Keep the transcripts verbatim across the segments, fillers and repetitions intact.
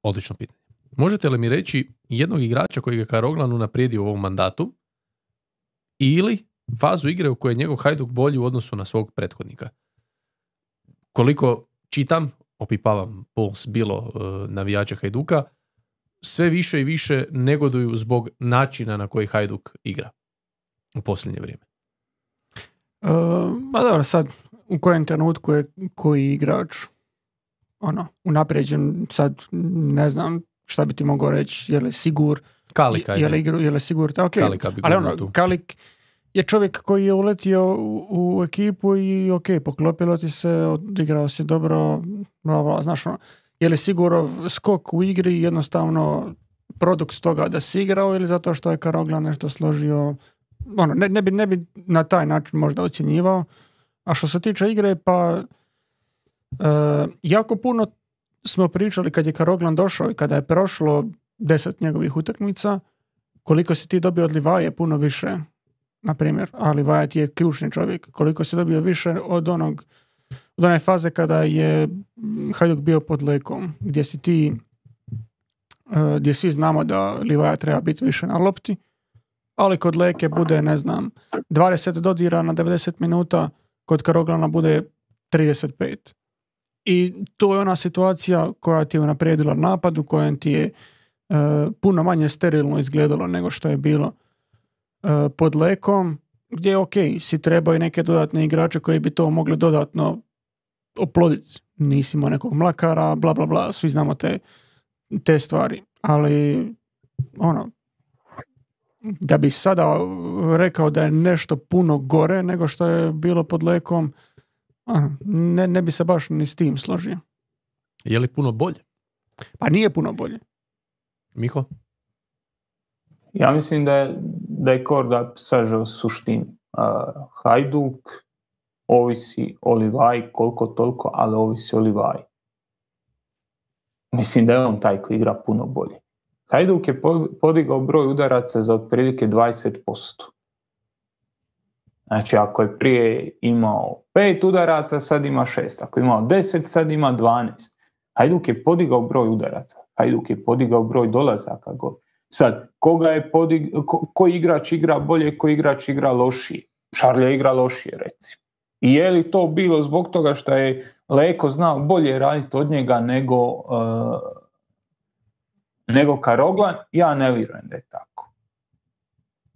Odlično pitanje. Možete li mi reći jednog igrača koji je Karoglan unaprijedio u ovom mandatu ili fazu igre u kojoj je njegov Hajduk bolji u odnosu na svog prethodnika? Koliko čitam, opipavam puls bilo uh, navijača Hajduka, sve više i više negoduju zbog načina na koji Hajduk igra u posljednje vrijeme. Uh, a dobro, sad u kojem trenutku je koji igrač ono, unaprijeđen, sad ne znam šta bi ti mogao reći, je li Sigur, Kalika je, je li igru, je li Sigur, ta, okay. Kalika bi ali ono, Kalik je čovjek koji je uletio u, u ekipu i ok, poklopilo ti se, odigrao si dobro, bla, bla, znaš ono, je li Sigurov skok u igri jednostavno produkt toga da si igrao ili zato što je Karoglan nešto složio, ono, ne, ne, bi, ne bi na taj način možda ocjenjivao. A što se tiče igre, pa e, jako puno smo pričali kad je Karoglan došao i kada je prošlo deset njegovih utakmica, koliko si ti dobio od Livaje puno više, na primjer, a Livaja ti je ključni čovjek, koliko si dobio više od onog od one faze kada je Hajduk bio pod Lekom, gdje si ti e, gdje svi znamo da Livaja treba biti više na lopti, ali kod Leke bude, ne znam, dvadeset dodira na devedeset minuta, kod Karoglana bude trideset pet. I to je ona situacija koja ti je unaprijedila napad, u kojem ti je e, puno manje sterilno izgledalo nego što je bilo e, pod Lekom, gdje je ok, si trebao i neke dodatne igrače koji bi to mogli dodatno oploditi. Nisi imao nekog Mlakara, bla bla bla, svi znamo te, te stvari. Ali ono, da bi sada rekao da je nešto puno gore nego što je bilo pod Lekom, ne, ne bi se baš ni s tim složio. Je li puno bolje? Pa nije puno bolje. Miho? Ja mislim da je, da je Korda sažao suštinu. Uh, Hajduk ovisi o Livaji koliko toliko, ali ovisi o Livaji. Mislim da je on taj koji igra puno bolje. Hajduk je podigao broj udaraca za otprilike dvadeset posto. Znači, ako je prije imao pet udaraca, sad ima šest. Ako je imao deset, sad ima dvanaest. Hajduk je podigao broj udaraca. Hajduk je podigao broj dolazaka. Sad, koga je podig... ko, koji igrač igra bolje, koji igrač igra lošije? Šarlja igra lošije, recimo. I je li to bilo zbog toga što je Leko znao bolje raditi od njega nego, uh, nego Karoglan? Ja ne vjerujem da je tako.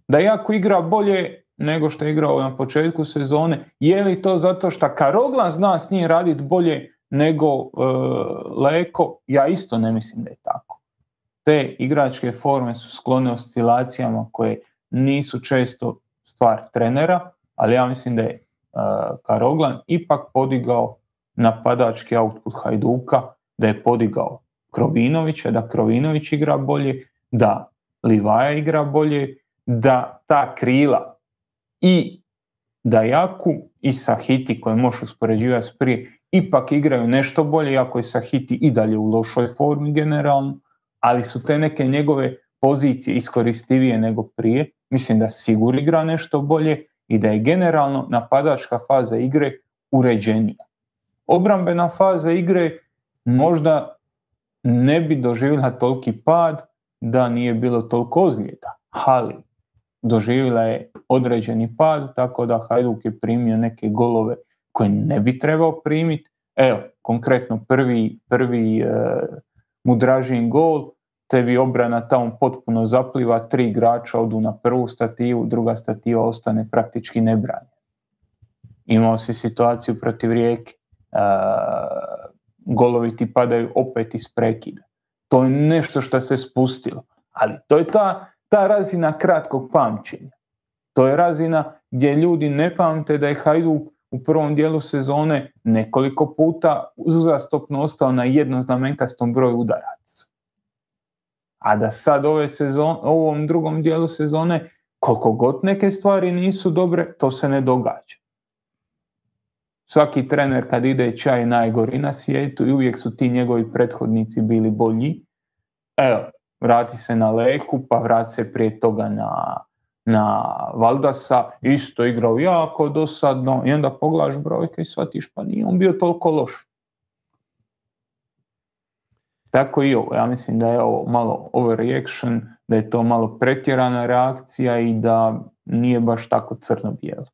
Da jako igra bolje nego što je igrao na početku sezone, je li to zato što Karoglan zna s njim raditi bolje nego uh, Leko? Ja isto ne mislim da je tako. Te igračke forme su sklone oscilacijama koje nisu često stvar trenera, ali ja mislim da je uh, Karoglan ipak podigao napadački output Hajduka, da je podigao Krovinovića, da Krovinović igra bolje, da Livaja igra bolje, da ta krila i Dajaku i Sahiti koje možeš uspoređivati s prije ipak igraju nešto bolje, iako je Sahiti i dalje u lošoj formi generalno, ali su te neke njegove pozicije iskoristivije nego prije. Mislim da Sigur igra nešto bolje i da je generalno napadačka faza igre uređenija. Obrambena faza igre možda ne bi doživjela toliki pad da nije bilo toliko ozljeda, ali doživjela je određeni pad, tako da Hajduk je primio neke golove koje ne bi trebao primiti. Evo, konkretno prvi, prvi uh, Mudražin gol, tebi obrana tamo potpuno zapliva, tri igrača odu na prvu stativu, druga stativa ostane praktički nebranjena. Imao si situaciju protiv Rijeke, uh, golovi ti padaju opet iz prekida. To je nešto što se spustilo, ali to je ta, ta razina kratkog pamćenja. To je razina gdje ljudi ne pamte da je Hajduk u prvom dijelu sezone nekoliko puta uzastopno ostao na jednoznamenkastom broju udaraca. A da sad ove sezone, ovom drugom dijelu sezone, koliko god neke stvari nisu dobre, to se ne događa. Svaki trener kad ide čaj najgori na svijetu i uvijek su ti njegovi prethodnici bili bolji. Evo, vrati se na Leku, pa vrati se prije toga na, na Valdasa, isto igrao jako dosadno i onda pogledaš brojke i shvatiš pa nije on bio toliko loš. Tako i ovo. Ja mislim da je ovo malo overreaction, da je to malo pretjerana reakcija i da nije baš tako crno-bijelo.